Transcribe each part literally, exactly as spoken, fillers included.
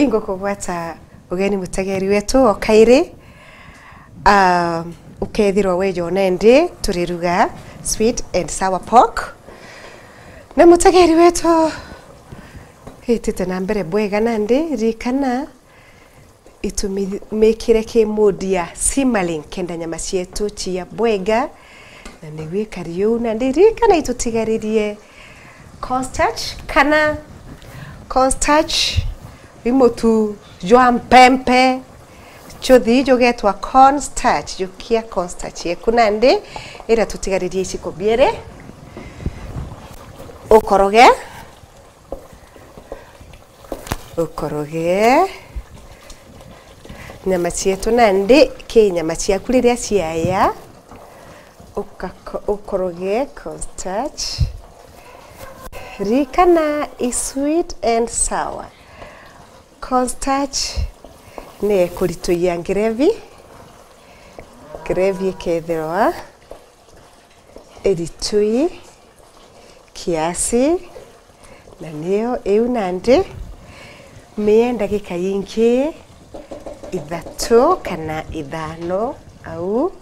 Ingukugwata ugeni mutegeri wetu o kairi. Ah, ukethirwa weja nandi turiruga sweet and sour pork. Na mutegeri wetu itite na mbere bwega nandi, ririkana itumikire ki mood ya simmering kenda nyama cietu cia bwega, na niguo ikari uu. Na ndirikana itutigaririe cornstarch kana cornstarch wi mutu jwa mpempe, chuthi jugetwa cornstarch, jukia cornstarch yeku nandi iria tutigaririe iciko biiri, ukoroge. Ukoroge nyama cietu nandi ki nyama ciaku riria ciaya, ukako-, ukoroge cornstarch. Ririkana i sweet and sour. Cornstarch ni ikurituyia gravy. Gravy ikethirwa iritui kiasi, na niyo iu nandi mie ndagika ingi ithatu kana ithano au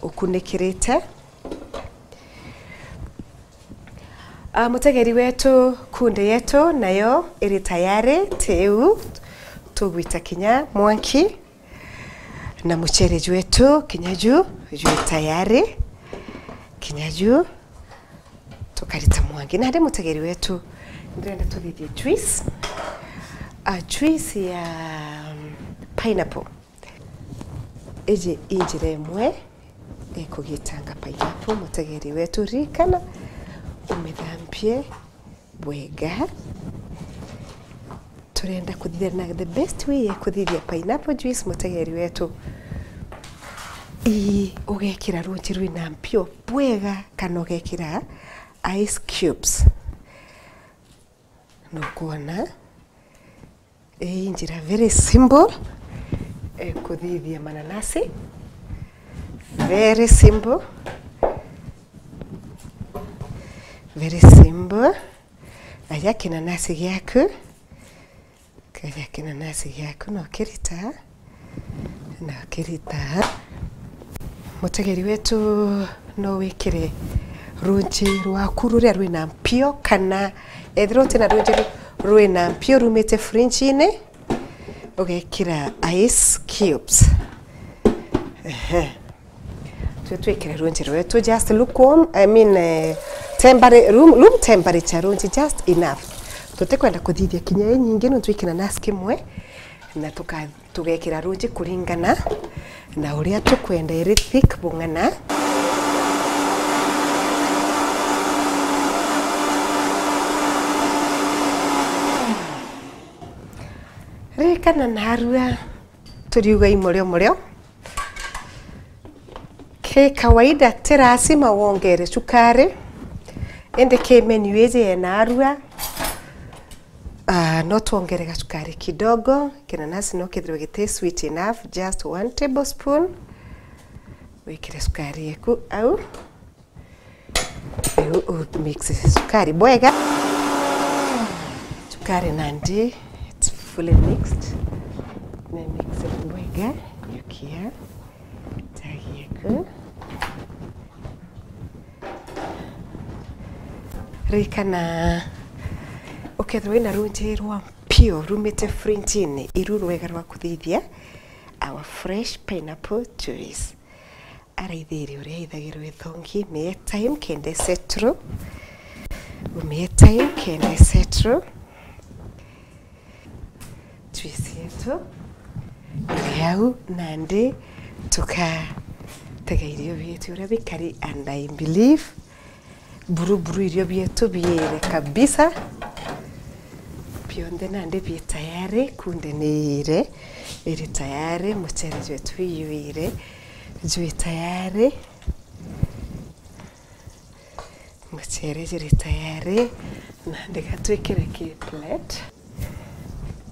ukunikirite. Ah, mutegeri wetu, kunde yetu nayo iri tayari, tiu tugwita kinya mwanki. Na mucere jwetu kinya ju jwi tayari, kinya ju tukarita mwangi. Nandi mutegeri wetu, ndirenda tuthithie juice. Ah, juice ya, um, pineapple. Iji i njira imwe ikugitanga pineapple, mutegeri wetu. Ririkana umithambie bwega. Turenda kuthithia na the best way ya kuthithia pineapple juice, mutegeri wetu. Ii, ugekira runji rwina mpio bwega, kana ugekira ice cubes. Nukwona? Ii njira very simple, eh, kuthithia mananasi. Very simple. Very simple. Aja kinanasi giaku. Kaja kinanasi giaku, no kirita. Na kirita. Mutegeri wetu, no wikire runji rwaku ruria rwina mpio, kana ethirwa utina runji ru-, rwina mpio rumite fridge-ini, ugekira ice cubes. Ehe. Twe twikire runji rwetu just lukewarm, I mean, eh, tempera-, room, room temperature runji just enough. Tutikwenda kuthithia kinya inyingi, no twikira nasi kimwe, na tuka-, tugekira runji kuringana na uria tukwenda iri thick bung'ana. Ririkana narua turiuga i murio murio. Ki kawaida ti lazima wongere cukari, indi ki menu iji yena arua, ah, no twongere gacukari kidogo. Kinanasi no kethirwe giti sweet enough, just one tablespoon. Wikire cukari eku au. Riu u mix cukari bwega. Cukari nandi, it's fully mixed. Ni mix bwega. Yukia. Tagi eku. Ririkana, ukethirwa wina runji rwa mpio rumite fridge-ini, iru rwega rwa kuthithia our fresh pineapple juice. Araithirie uria ithagirwa ithongi, mie time kenda isettle. Mie time kenda isettle. Juice yetu iri au, nandi tukatega irio bietu uria bikari, and I believe buru buru irio bietu biire kabisa. Bionthe nandi bi tayari, kunde ni iire, iri tayari, mucere jwetu iyuire, jwi tayari. Mucere juri tayari, nandi gatwikire ki plate.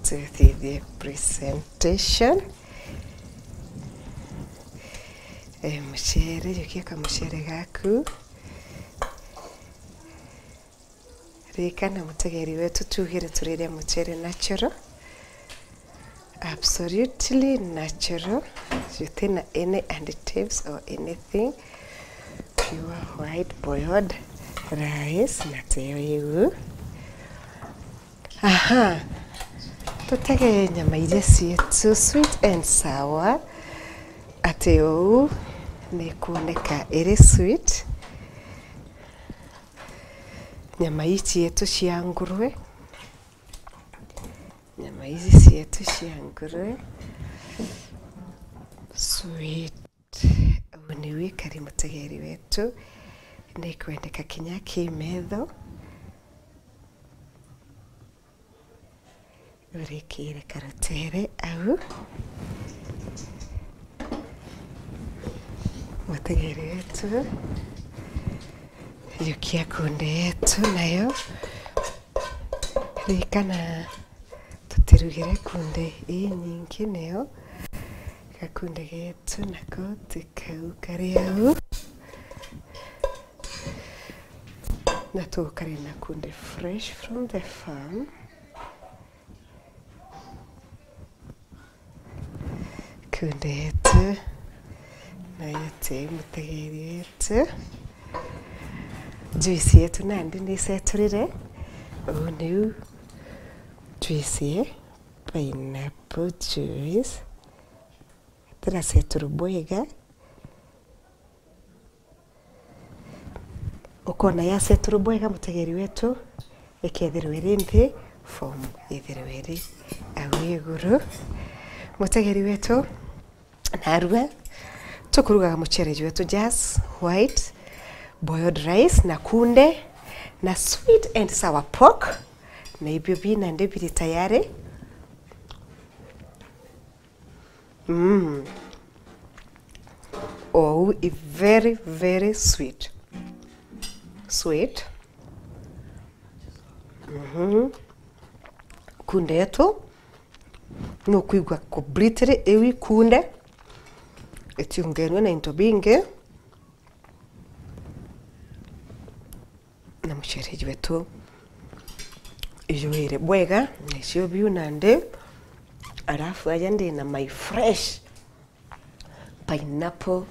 Tuthithie presentation. Eh, mucere, jukia kamucere gaku. Ririkana mutegeri wetu, tugire turiria mucere natural. Absolutely natural. Jutina any additives or anything. Pure white boiled rice na teo iu. Aha. Tutege nyama iria cietu sweet and sour. Ati uu ni kuoneka iri sweet. Nyama ii cietu cia ngurwe. Nyama ici cietu cia ngurwe. Sweet. Uu niu ikari mutegeri wetu. Ni kwendeka kinya ki metho. Urikire karutere au. Mutegeri wetu. Yukia kunde yetu nayo. Ririkana tutirugire kunde inyingi nio. Gakunde getu nako ti kau kari au. Na tukari na kunde fresh from the farm. Kunde yetu. Nayo ti mutegeri wetu. Juice yetu nandi ni iceturire. Uu niu juice ye pineapple juice. Tiraceturwa bwega. Ukona yaceturwa bwega, mutegeri wetu, ikethirwa iri nthi, form ithirwa iri au iguru. Mutegeri wetu, narua tukurugaga mucere jwetu just white boiled rice na kunde na sweet and sour pork, na ibio bina ndi biri tayari. Mm. Oh, i very, very sweet. Sweet. Mhm. Kunde yetu nukwigua completely iu ikunde, itiungenwe na into bingi. Na mucere jwetu ijuire bwega, na icio biu nandi. Arafu aja ndi na my fresh pineapple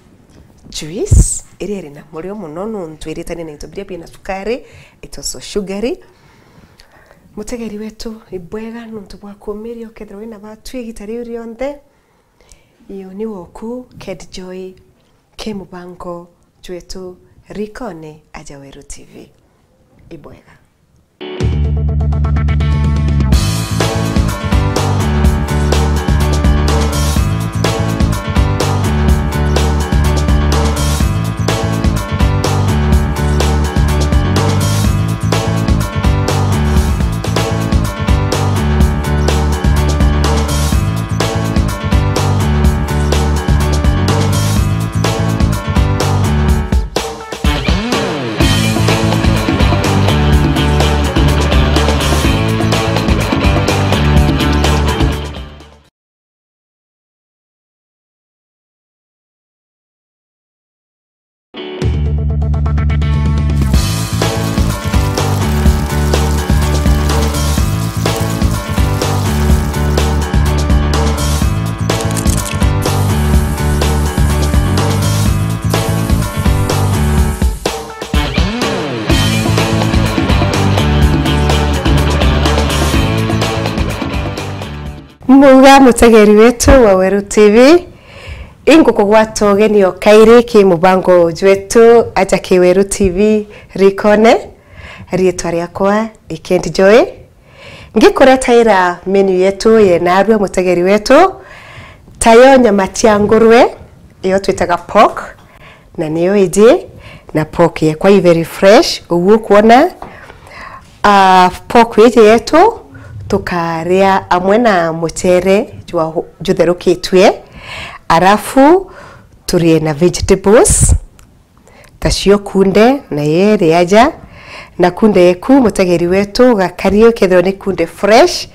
juice, iria iri na murio muno nontu iritanie na into biria bina sukari, it also sugary. Mutegeri wetu, ibwega nontu bwa kumiria ukethirwa wina batu igita riu rionthe. Iyo ni woku, Ked Joy, ki mubango jwetu Rikone aja Weru T V. Ibwega. Muga mutegeri wetu wa Weru T V, ingukugwata ugeni o kairi ki mubango jwetu aja ki Weru T V Rikone. Riitwa riakwa i Ked Joy. Ngikuretaira menu yetu ye narua mutegeri wetu, tayo nyama cia ngurwe, iyo twitaga pork, na niyo iji, na pork yekwa i very fresh, uguo ukwona. Ah, pork iji yetu tukaria amwe na mucere jwa, jutherukitue, arafu turie na vegetables, tacio kunde, na yeri aja, na kunde yeku mutegeri wetu ugakarie ukethirwa ni kunde fresh,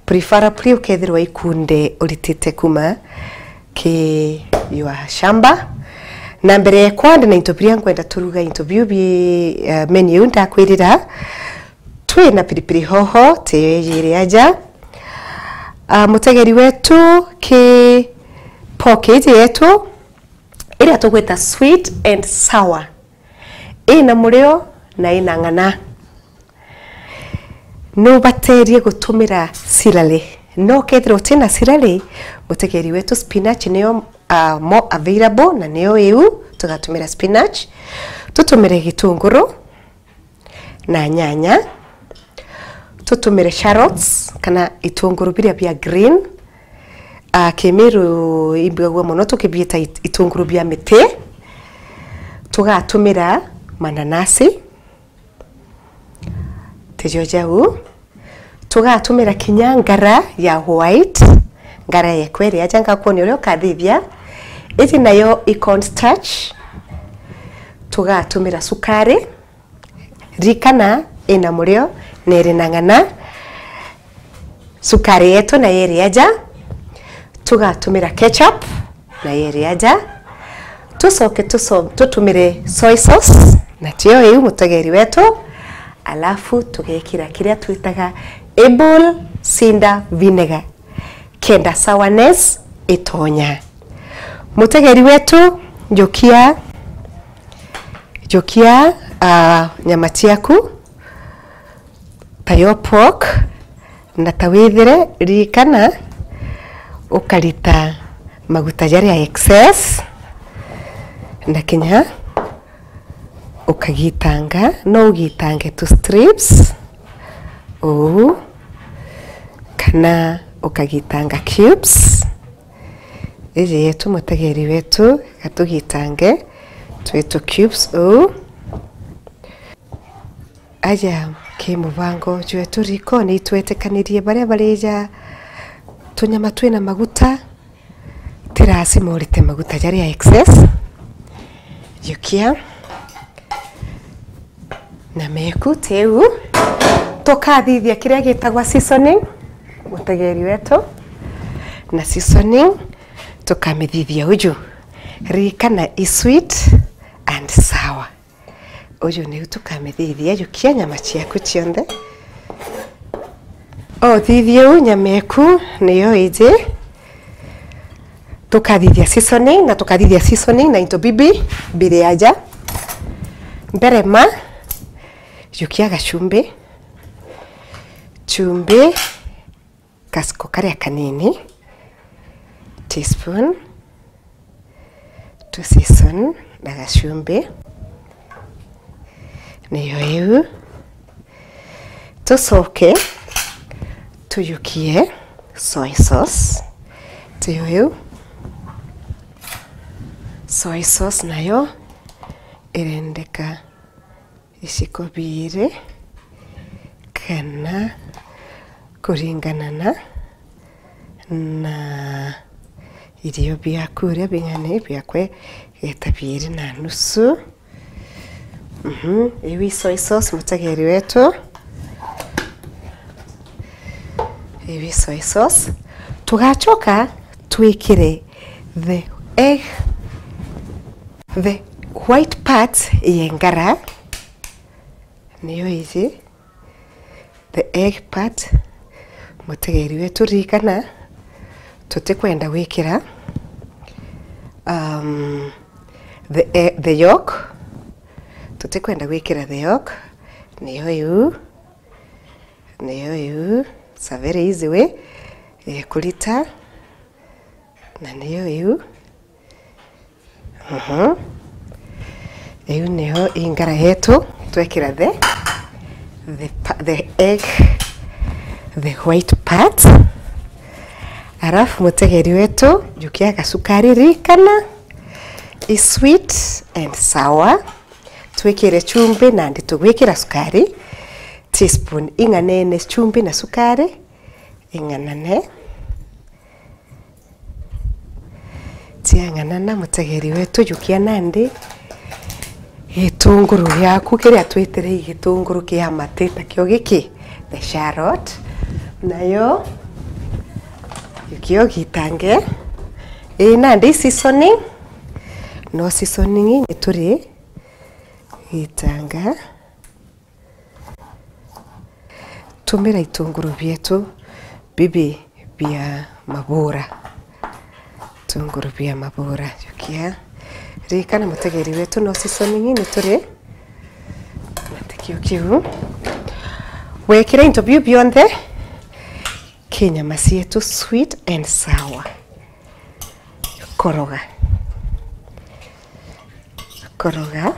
preferably ukethirwa i kunde uritite kuma ki your shamba. Na mbere yekwa ndi na into biria nkwenda turuga, into biu bi, eh, menu iu ndakwirira. Twi na pilipili hoho, tiyo ijiri aja. Ah, mutegeri wetu, ki pork iji yetu iria tugwita sweet and sour, ina murio na ina ng'ana. Nubaterie gutumira celery. No kethira utina celery, mutegeri wetu, spinach niyo, ah, more available na niyo iu, tugatumira spinach. Tutumire gitunguru na nyanya. Tutumire shallots kana itunguru biria bia green. Ah, Kimiru imbigagua mono tukibiita it-, itunguru bia miti. Tugatumira mananasi. Tijo jau. Tugatumira kinya ngara ya white, ngara ya kweri aja ngakwonia uria ukathithia. Iji nayo i corn starch. Tugatumira sukari, rikana ina murio na iri na ng'ana. Sukari yetu na yeri aja. Tugatumira ketchup na yeri aja. Tucoke tuso-, tutumire soy sauce, na tio iu mutegeri wetu, alafu tugekira kiria twitaga apple cider vinegar, kenda sourness itonya. Mutegeri wetu, jukia, jukia, ah, nyama ciaku, ta yo pork, na ta withire, ririkana, ukarita maguta jaria excess, na kinya ukagitanga, no ugitange tu strips uu, kana ukagitanga cubes. Iji yetu mutegeri wetu, gatugitange twi tu cubes uu. Aja ki mubango jwetu rikoni, itwetikanirie baria barija tunyama twina maguta, ti lazima urite maguta jaria excess. Jukia na meku tiu. Tukathithia kiria gitagwa seasoning, mutegeri wetu, na seasoning tukamithithia uju. Ririkana i sweet and sour. Uju niu tukamithithia, jukia nyama ciaku cionthe. Uthithie u nyama eku niyo iji. Tukathithia seasoning, na tukathithia seasoning na into bibi biri aja. Mbere ma, jukia gachumbi. Chumbi. Kasiko karia kanini, teaspoon, tu season na gachumbi. Niyo iu. Tucoke tujukie soy sauce. Tiyo iu. Soy sauce nayo irendeka iciko biiri, kana kuringana na, na irio biaku uria bing'ana, biakwa igeta biiri na nusu. Mhm, iu i soy sauce, mutegeri wetu. Iu i soy sauce. Tugachoka twikire the egg, the white part ya ngara. Niyo iji the egg part, mutegeri wetu, ririkana, tutikwenda gwikira, um, the e-, the yolk, tutikwenda gwikira the yolk. Niyo iu, niyo iu, it's a very easy way ya kurita. Na niyo iu. Mhm. Iu niyo ingara yetu, twekira the, the pa-, the egg, the white part. Arafu mutegeri wetu, jukia gasukari, ririkana, i sweet and sour. Twikire chumbi, nandi tugwikira sukari. Teaspoon ing'anene chumbi na sukari. Ing'anane. Ciang'anana, mutegeri wetu, jukia nandi gitunguru giaku kiria twitire i gitunguru kia mati, takio giki, the shallot. Nayo, jukia ugitange. Ii, nandi seasoning. No seasoning ni turi gitanga. Tumira itunguru bietu bibi bia mabura. Bitunguru bia mabura. Jukia. Ririkana mutegeri wetu, no seasoning ni turi na tikio kiu. Wekira into biu bionthe, ki nyama cietu sweet and sour. Koroga. Koroga.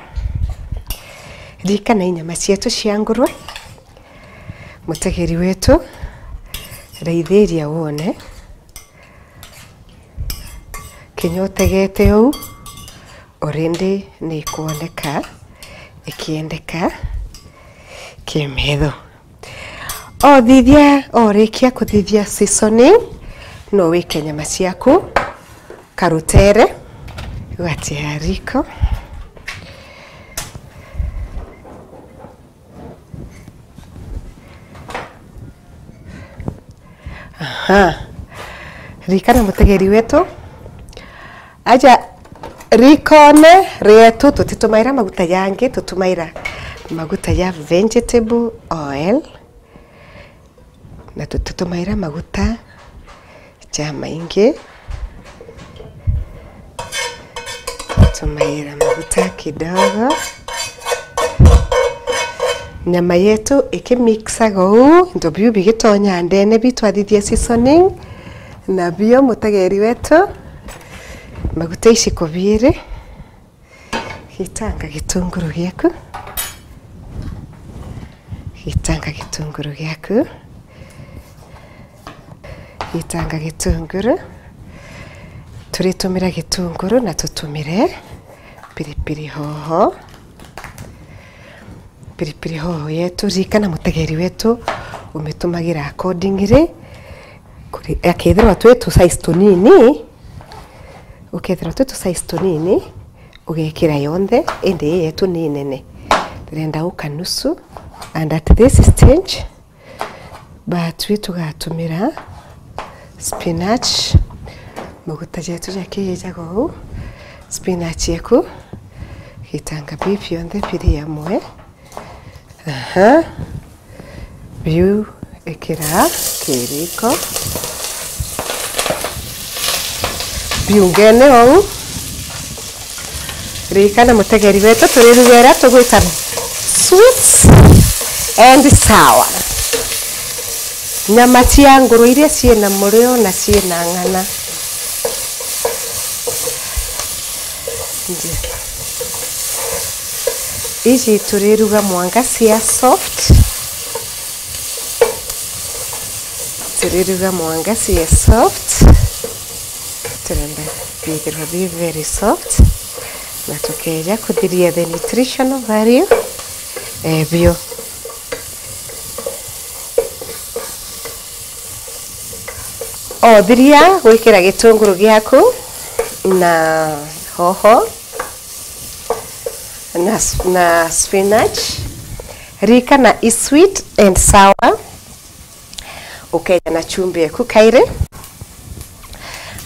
Ririkana i nyama cietu cia ngurwe. Mutegeri wetu, raithiria wone. Kinya utegete uu, already ni ikwoneka ikiendeka kimetho. Othithia, orikia kuthithia seasoning, no wike nyama ciaku karutere, ugatia riko. Aha. Ririkana mutegeri wetu, aja rikone rietu tutitumaira maguta jangi, tutumaira maguta ja vegetable oil, na tutitumaira maguta jamaingi. Tumaira maguta kidogo. Nyama yetu ikimixaga uu, into biu bigitonya ndene, biu twathithia seasoning, na bio mutegeri wetu, maguta ici kubiri. Gitanga gitunguru giaku. Gitanga gitunguru giaku. Gitanga gitunguru. Turitumira gitunguru na tutumire pilipili hoho. Pilipili hoho yetu, ririkana mutegeri wetu, umitumagira accordingly. Kuri-, akethirwa twi tu size tunini, ukethirwa twi tu size tunini, ugekira yonthe, indi ii yetu ni nene. Ndirenda uka nusu, and at this stage, batwi tugatumira spinach, maguta jetu jakiijaga uu, spinach yeku, gitanga biu bionthe biri amwe. Aha. Biu ikira kiriko. Biungene ou. Ririkana mutegeri wetu, turirugera tugwita sweet and sour. Nyama cia nguru iria ciina murio na ciina ng'ana. Nje. Iji turiruga mwanka cia soft. Turiruga mwanka cia soft. Turenda bithirwa bi very soft. Na tukeja kuthiria the nutritional value. Eh, bio. Othiria gwikira gitunguru giaku na hoho na, na spinach, ririkana i sweet and sour. Ukeja na chumbi eku kairi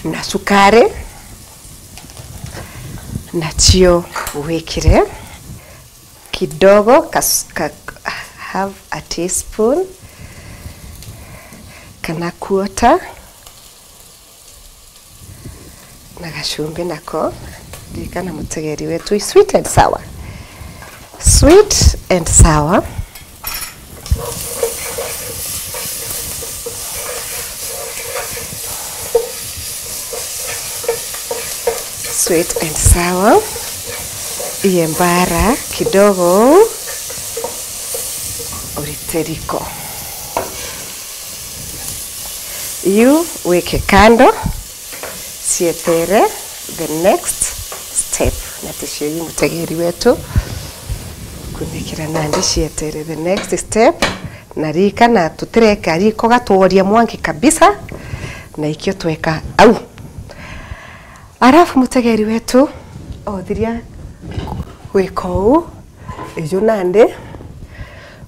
na sukari, na cio wikire kidogo, ka, ka, half a teaspoon kana quarter, na gachumbi nako. Ririkana mutegeri wetu, sweet and sour. Sweet and sour. Sweet and sour. Iye mbara kidogo. Urite riko. Iu wike kando, cietere the next step. Na ticio iu mutegeri wetu. Kunikira nandi cietere the next step. Na ririkana tutireka riko gatworia mwanki kabisa. Na ikio tweka au. Arafu mutegeri wetu, othiria gwika uu, iju nandi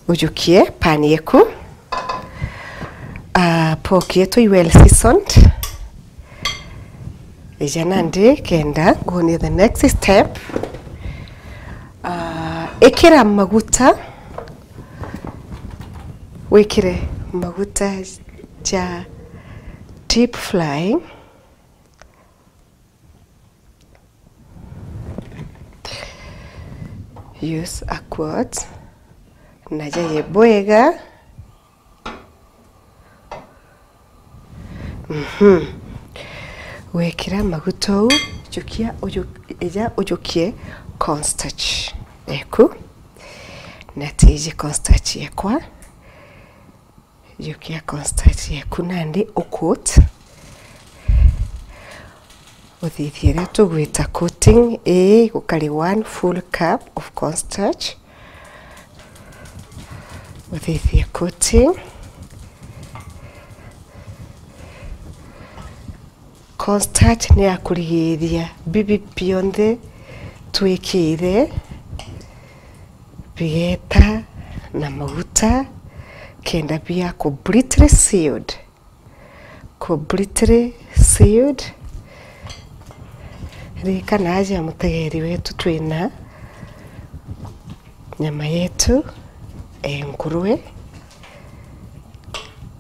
ujukie pan yeku. Ah, pork yetu i well seasoned. Ija nandi kenda nguonie the next step. Ah, ikira maguta, wikire maguta ja Deep frying. Use a quart na jaye bwega. Mhm. Wekira maguta uu, jukia uju-, eja ujukie cornstarch eku. Na tiji cornstarch yekwa. Jukia cornstarch yeku nandi ucoat. Uthithie iria tugwita coating ii, gukari one full cup of cornstarch. Uthithie coating. Cornstarch ni ya kurigiria bibi bionthe twikire bigeeta na maguta kenda bia completely sealed. Completely sealed. Ririkana aja mutegeri wetu twina nyama yetu e ngurwe,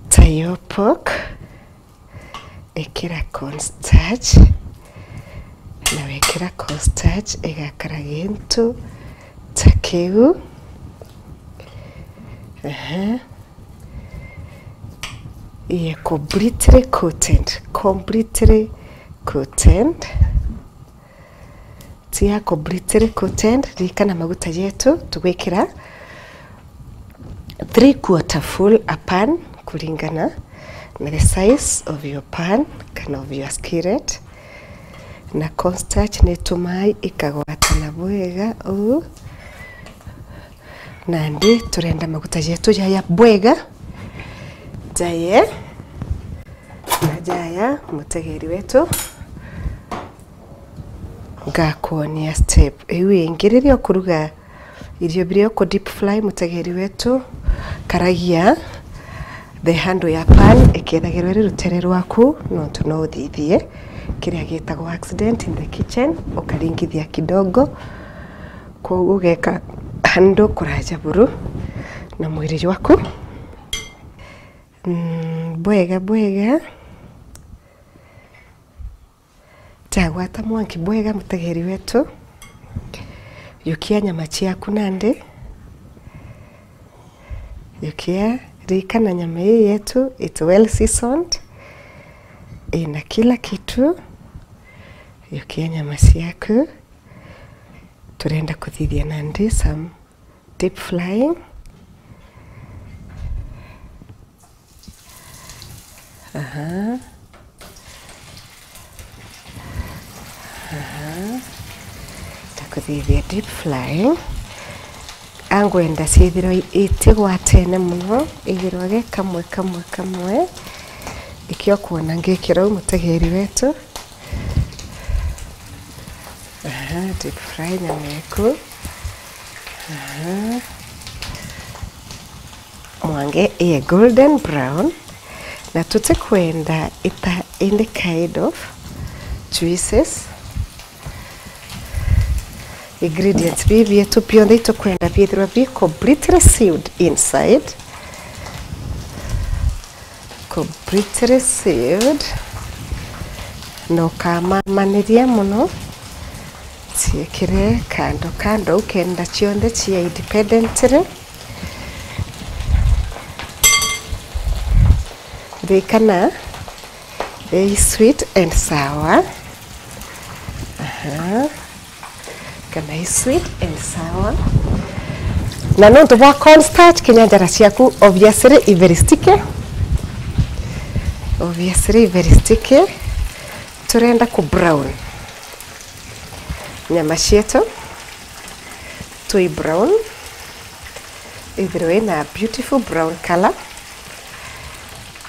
tayo pork. Ikira cornstarch, na wekira cornstarch igakara gintu ta kiu. Aha. Iye completely coated, completely coated. Tia completely coated, ririkana maguta jetu tugwikira three quarter full a pan, kuringana na the size of your pan kana of your skillet. Na cornstarch ni itumaga ikagwatana bwega uu. Nandi turenda maguta jetu jaya bwega, jaye na jaya, mutegeri wetu. Ngakwonia step iu ingi. Riria ukuruga irio biria uku deep fry, mutegeri wetu, karagia the handle ya pan ikethagirwa iri rutere rwaku, nontu no uthithie kiria gitagwa accident in the kitchen, ukaringithia kidogo, koguo ugeka handle kuraja buru na mwiri jwaku. Mm, bwega bwega. Jagwata mwanki bwega, mutegeri wetu. Yukia nyama ciaku nandi. Yukia, ririkana nyama ii yetu, it's well seasoned. Ina kila kitu. Yukia nyama ciaku. Turenda kuthithia nandi some deep frying. Aha. Aha. Takuthithia deep frying. Angwenda ciithirwe itigwatene muno, ithirwage kamwe, kamwe, kamwe. Ikio kwona ngikira u mutegeri wetu. Aha, deep fry nyama yaku. Aha. Mwange iye golden brown, na tutikwenda ita any kind of juices. Ingredients bibi bietu bionthe itukwenda biithirwa bi completely sealed inside. Completely sealed. Na ukamamaniria muno. Ciikire kando kando, ukenda cionthe cia independently. Ririkana, they sweet and sour. Aha. Kana i sweet and sour. Na nontu bwa cornstarch, kinya njara ciaku obviously i very sticky. Obviously i very sticky. Turenda ku brown nyama cietu. Tui brown. Ithirwe ina beautiful brown color.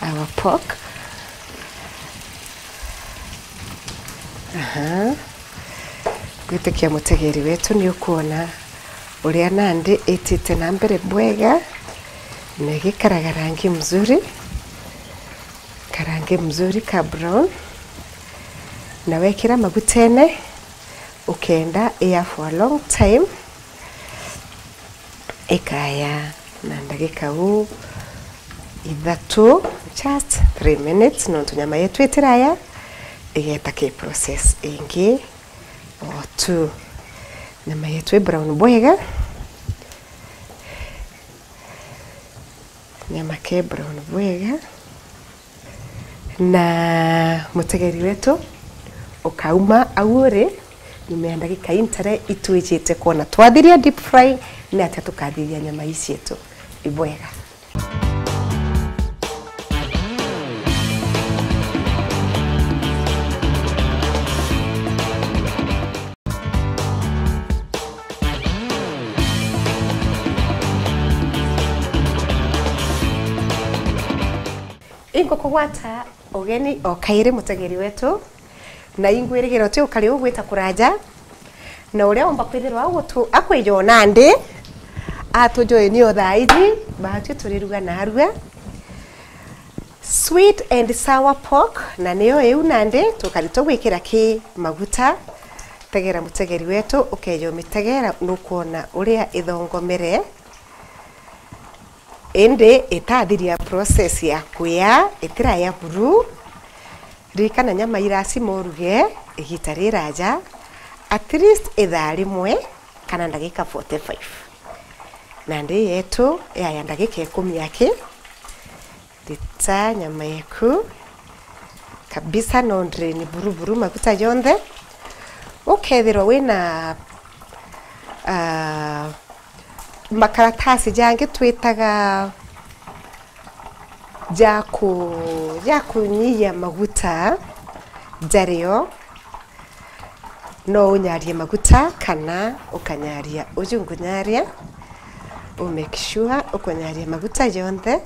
Our pork. Aha. Ngwitikia mutegeri wetu ni ukwona uria nandi itite na mbere bwega, na igikaraga rangi mzuri, karangi mzuri ka brown, na wekira magutene, ukenda iya for a long time, ikaya na ndagika uu ithatu, just three minutes, nontu nyama yetu itiraya igeta ki process ingi o tu. Nyama yetu i brown bwega, nyama ke brown bwega. Na mutegeri wetu ukauma au uri, nyuma ya ndagika intare itwijite kwona twathiria deep fry, ni atia tukathiria nyama ii cietu ibwega. Ingukugwata ugeni o kairi, mutegeri wetu, na ingwirigiro ti ukari ugwita kuraja, na uria umba kwithirwa agutu-, akwijo nandi, atujoini o thaa iji, baatwi turiruga narua. Sweet and sour pork, na niyo iu nandi tukari tugwikira ki maguta. Tegera mutegeri wetu, ukeja umitegera, nukwona uria ithongomere. Indi itathiria process ya kuya, itiraya buru. Ririkana nyama irasima uruge igita riraja, at least ithaa rimwe kana ndagika forty-five. Nandi yetu yaya ndagika ikumi aki. Rita nyama yeku kabisa, no drain buru buru maguta jonthe. Ukethirwa wina, ah, makaratasi jangi twitaga ja ku-, ja kunyihia maguta jario, no unyarie maguta kana ukanyaria uju ngunyaria. U make sure ukunyaria maguta jonthe.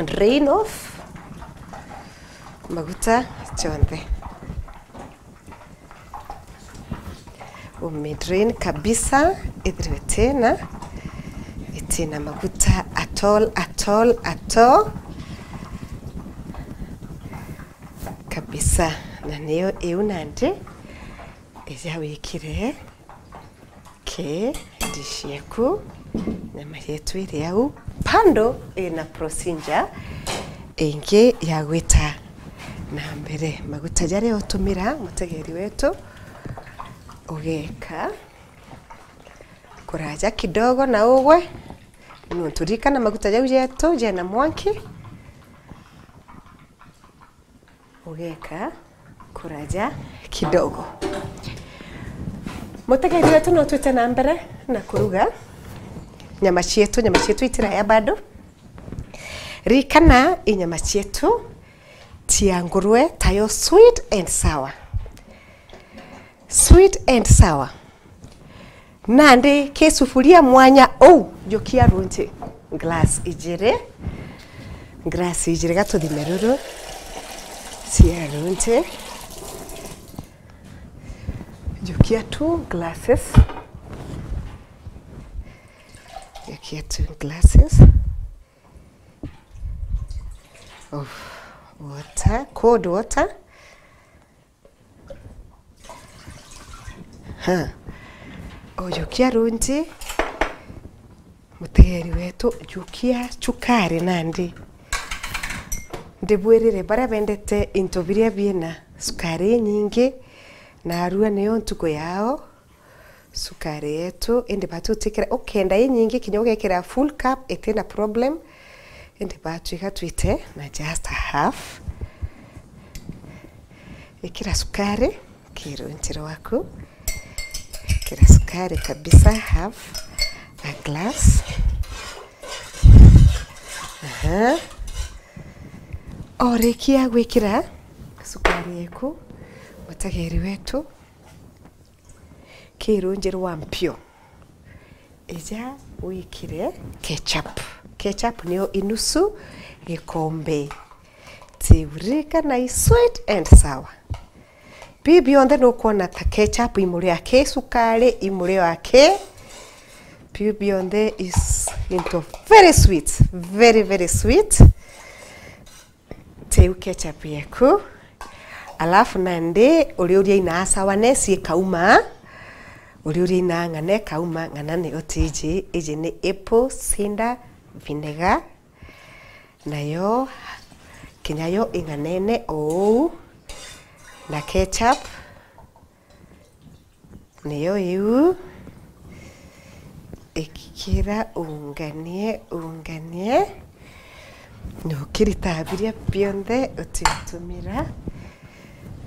Drain off maguta jonthe. Ume drain kabisa, ithirwe itina, itina maguta at all, at all, at all. Kabisa. Na niyo iu nandi, ija wikire ki dish yeku, nyama yetu iri au. Bado ina procedure ingi ya gwita na mbere. Maguta jaria utumira, mutegeri wetu, ugeka kuraja kidogo na ugwe, nontu ririkana maguta jau jetu jena mwanki. Ugeka kuraja kidogo. Mutegeri wetu, no twite na mbere na kuruga nyama cietu. Nyama cietu itiraya bado. Ririkana, i nyama cietu cia ngurwe, tayo sweet and sour. Sweet and sour. Nandi ki sufuria mwanya uu, jukia runji glass ijiri. Glass ijiri, gatuthime ruru cia runji. Jukia two glasses. Jukia two glasses of water, cold water. Ha. Ujukia runji, mutegeri wetu, jukia cukari nandi. Ndibwirire, baria bendete into biria biina cukari inyingi, narua niyo ntuku yao. Cukari yetu, indi batu utikira, ukenda inyingi, kinya ugekira full cup, itina problem. Indi batu iga twite na just a half. Ikira cukari ki runji rwaku. Ikira cukari kabisa, half a glass. Aha. Orikia gwikira cukari yeku, mutegeri wetu, ki runji rwa mpio, ija wikire ketchup. Ketchup niyo inusu gikombe. Tiririkana i sweet and sour. Bii bionthe nukwona ta ketchup imuria ki, cukari imuria ki. Bii bionthe is into very sweet, very, very sweet. Tiu ketchup yeku. Alafu nandi uriuria ina sourness ikauma, uriuria ina ng'ana ikauma, ng'ana niyo tiji, iji ni apple cider vinegar, nayo kinya yo ing'anene o uu, na ketchup, niyo iu. Ikira unganie, unganie. Na ukirita biria bionthe utiutumira,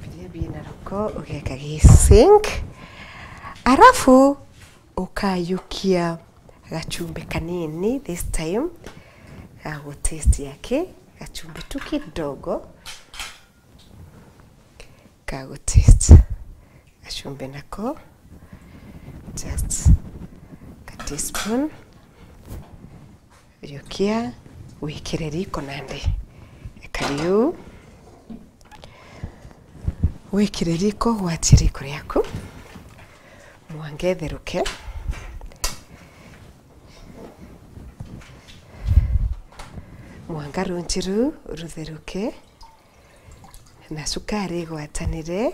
biria bina ruko ugeka gi sink. Arafu ukayukia gachumbi kanini this time, ga gutaste yake, gachumbi tu kidogo. Ka gutaste. Gachumbi nako, just ka teaspoon. Yukia, wikire riko nandi. Ekari uu. Wikire riko, gwatie riko riaku. Mwanka itheruke. Mwanka runji ruu rutheruke. Na cukari igwatanire,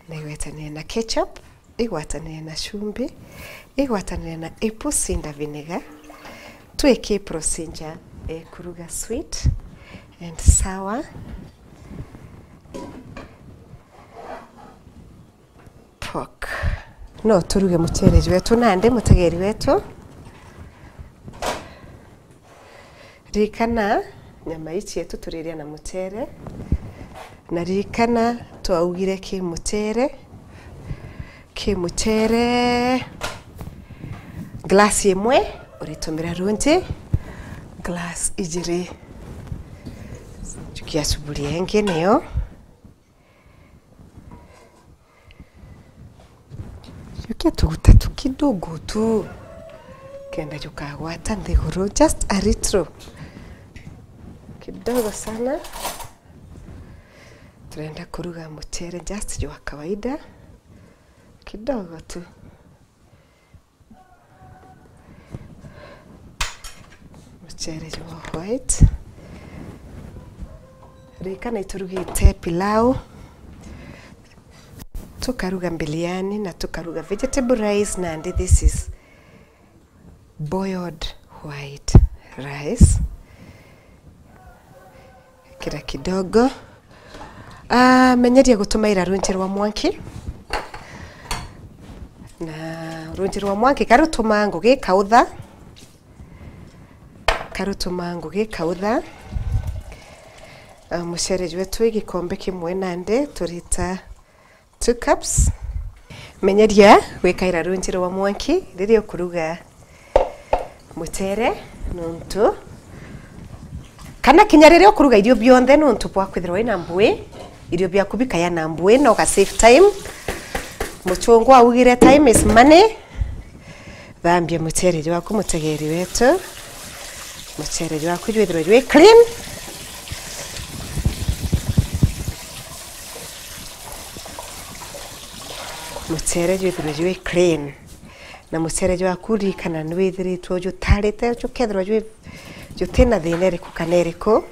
na igwatanire na ketchup, igwatanire na chumbi, igwatanire na apple cider vinegar. Twiki procedure ya kuruga sweet and sour pork. No turuge mucere jwetu nandi, mutegeri wetu. Ririkana, nyama ii cietu turiria na mucere. Na ririkana, twaugire ki mucere, ki mucere, glass imwe, uritumira runji glass ijiri. Jukia sufuria ingi niyo. Jukia tuguta tu kidogo tu, kenda jukagwata nthiguru, just a little. Kidogo sana. Turenda kuruga mucere just jwa kawaida. Kidogo tu. Mucere jwa white. Ririkana iturugite pilau, tukaruga biryani na tukaruga vegetable rice, nandi this is boiled white rice. Kira kidogo. Ah, menyeria gutumaira runji rwa mwanki. Na runji rwa mwanki karutuma ngugi ikautha. Karutuma ngugi ikautha. Ah, mucere jwetu i gikombe kimwe nandi turita two cups. Menyeria gwikaira runji rwa mwanki riria ukuruga mucere, nontu kana kinya riria ukuruga irio bionthe, nontu bwa kwithirwa wina mbui, irio biaku bikaya na mbui, na uga save time. Muchungu augire, "Time is money." Thambia mucere jwaku, mutegeri wetu. Mucere jwaku jwithirwe jwi clean. Mucere jwithirwe jwi clean. Na mucere jwaku ririkana ni withiritwe jutarite, jukethirwa jwi, jutina thina iriku kana iriku.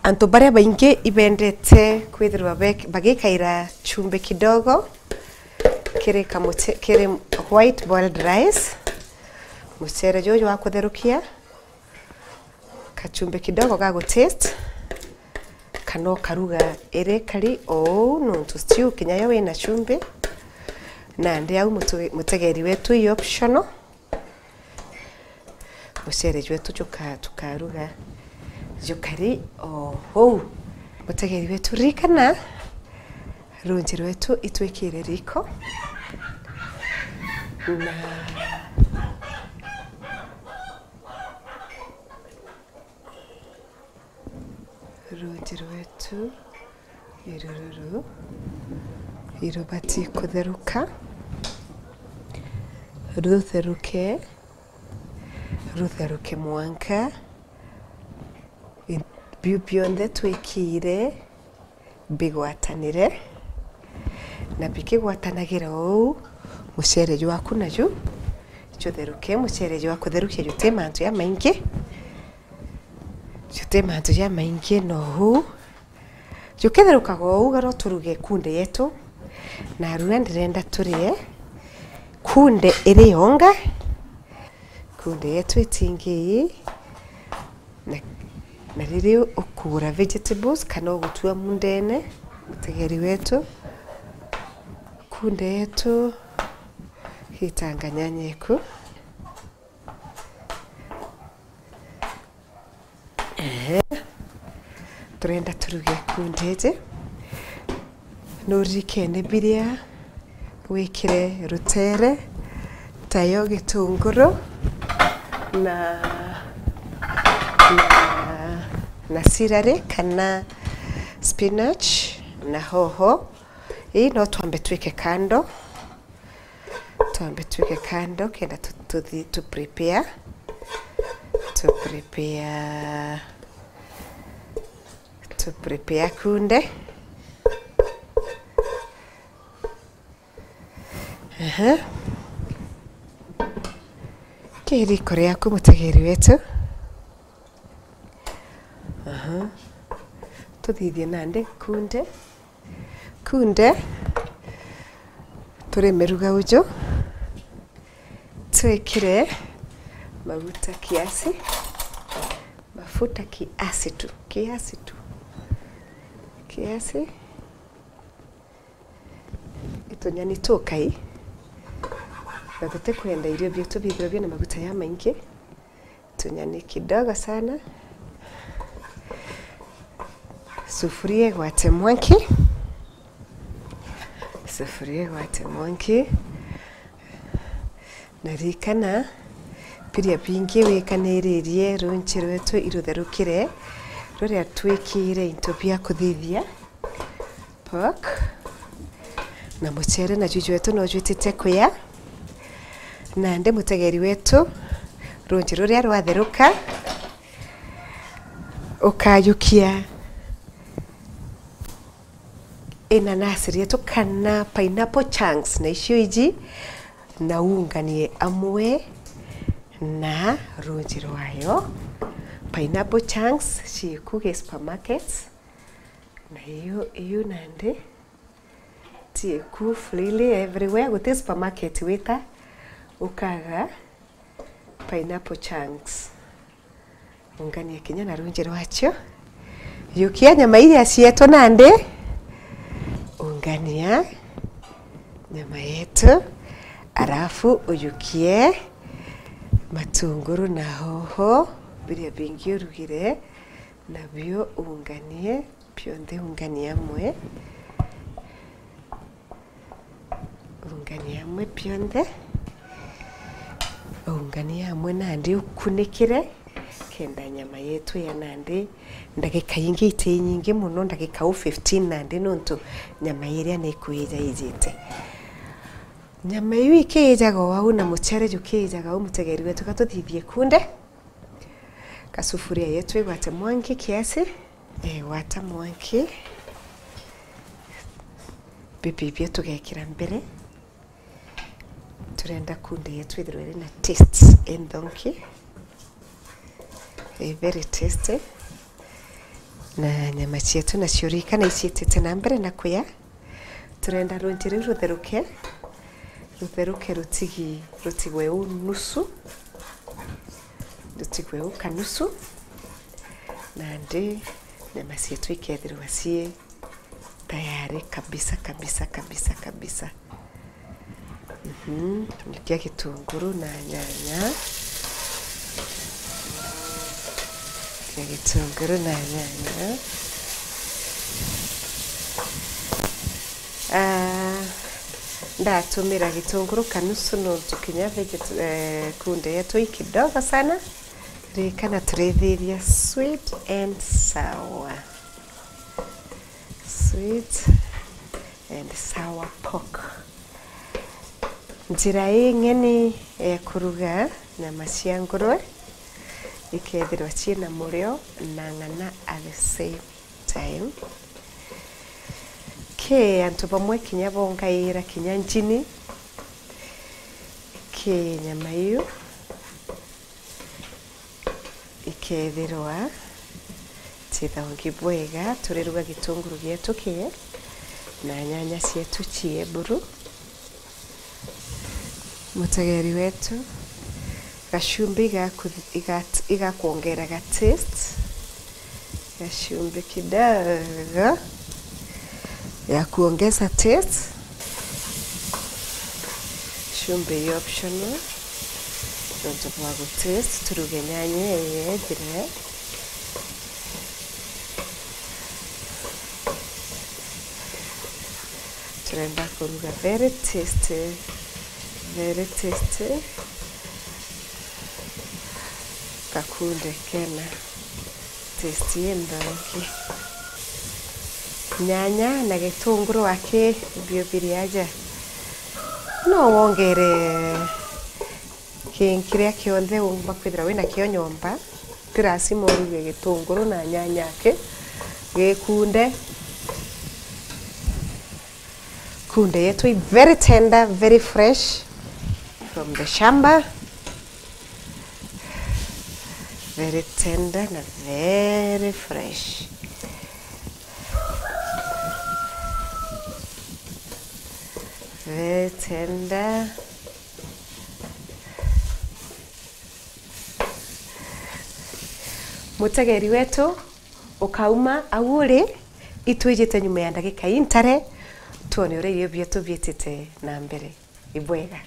Antu baria baingi ibendete kwithirwa bek-, bagikaira chumbi kidogo kiri kamuche-, kiri white boiled rice. Mucere juju wa kutherukia, kachumbi kidogo ga gutaste, kana ukaruga iri kari o uu, nontu stew kinya yo wina chumbi. Nandi au mutu-, mutegeri wetu, i optional. Mucere jwetu juka-, tukaruga jukari o uu. Mutegeri wetu, ririkana, runji rwetu itwikire riko. Na runji rwetu irururu irubati kutheruka, rutheruke, rutheruke mwanka biu bionthe twikire bigwatanire, na bikigwatanagira uu, mucere jwaku naju jutheruke. Mucere jwa kutherukia juti mantu jamaingi, juti mantu jamaingi, no uu. Juketherukaga uu, garo turuge kunde yetu, narua ndirenda turie Kunde iri yonga, kunde yetu itingi ii, na, na riria ukugura vegetables kana ugutua mundene, mutegeri wetu, kunde yetu gitanga nyanya iku. Ehe. Turenda turuge kunde iji. Nuririkene biria wikire rutere, tayo gitunguru na, na, na celery kana spinach na hoho. Ii no twambe twike kando. Twambe twike kando kenda tu, tuthi, tu prepare. Tu prepare. Tu prepare kunde. Aha. Ki riko riaku, mutegeri wetu. Aha. Tuthithie nandi kunde. Kunde, turimiruga uju, twikire maguta kiasi, mafuta kiasi tu, kiasi tu, kiasi. Tunyani tukai, na tutikwenda irio bietu bithirwe bina maguta jamaingi. Tunyani kidogo sana. Sufuria igwate mwanki. Sufuria igwate mwanki. Na ririkana, biria bingi wikaniririe runji rwetu irutherukire, ruria twikire into bia kuthithia. Pork. Na mucere na juju wetu no jwitite kuya. Nandi mutegeri wetu, runji ruria rwatheruka, ukayukia inanasi rietu kana pineapple chunks, na icio iji, na unganie amwe na runji rwayo. Pineapple chunks ciiku gi supermarkets. Na iu, iu nandi, ti iku freely everywhere, guti supermarket wita ukaga pineapple chunks. Ungania kinya na runji rwacio. Yukia nyama iria cietu nandi. Ungania nyama yetu, arafu uyukie matunguru na hoho, biria bingi urugire, nabio unganie. Bionthe unganie amwe. Unganie amwe bionthe. Unganie amwe nandi ukunikire, kenda nyama yetu ya nandi ndagika ingi iti nyingi mono, ndagika u fifteen nandi, nontu nyama iria ni kuija ijite. Nyama iu ikiijaga o au na mucere jukiijaga au, mutegeri wetu, ka tuthithie kunde. Kasufuria yetu igwate mwanki kiasi. Igwata mwanki. Bibi bia tugekira mbere. Turenda kunde yetu ithirwe iri na taste inthonki. I very tasty. Na nyama cietu nacio rika na iciitite na mbere na kuya. Turenda runji riu rutheruke, rutheruke rutigi, rutigwe u nusu, rutigwe u kanusu, nandi nyama cietu ikethirwa cii tayari kabisa, kabisa, kabisa, kabisa. Mhm, ngikia gitunguru na nyanya. Ngikia gitunguru na nyanya. Ah, ndatumira gitunguru kanusu nontu kinya veget-, eh, kunde yetu i kidogo sana. Ririkana turithiria sweet and sour. Sweet and sour pork. Njira ing'eni ya kuruga nyama cia ngurwe ikethirwa ciina murio na ng'ana at the same time. Ki antu bamwe kinya bongaira kinya njini ki nyama iu. Ikethirwa cithongi bwega, turiruga gitunguru gietu kie na nyanya cietu cie buru. Mutegeri wetu, gacumbi igaku- igat- igakwongera ga taste. Gacumbi kidogo ya kuongeza taste. Chumvi i optional, nontu bwa gu taste, turuge nyanya iyethire. Turenda kuruga very tasty, very tasty. Gakunde kena taste inthongi. Nyanya na gitunguru aki bio biri aja. No wongere ki- kiria kionthe umba kwithira wina kio nyomba. Ti lazima uruge gitunguru na nyanya aki. Gikunde. Kunde yetu i very tender, very fresh from the shamba. Very tender na very fresh. Very tender. Mutegeri wetu, ukauma au uri, itwijite nyuma ya ndagika intare, tuone uria irio bietu biitite na mbere. Ibwega.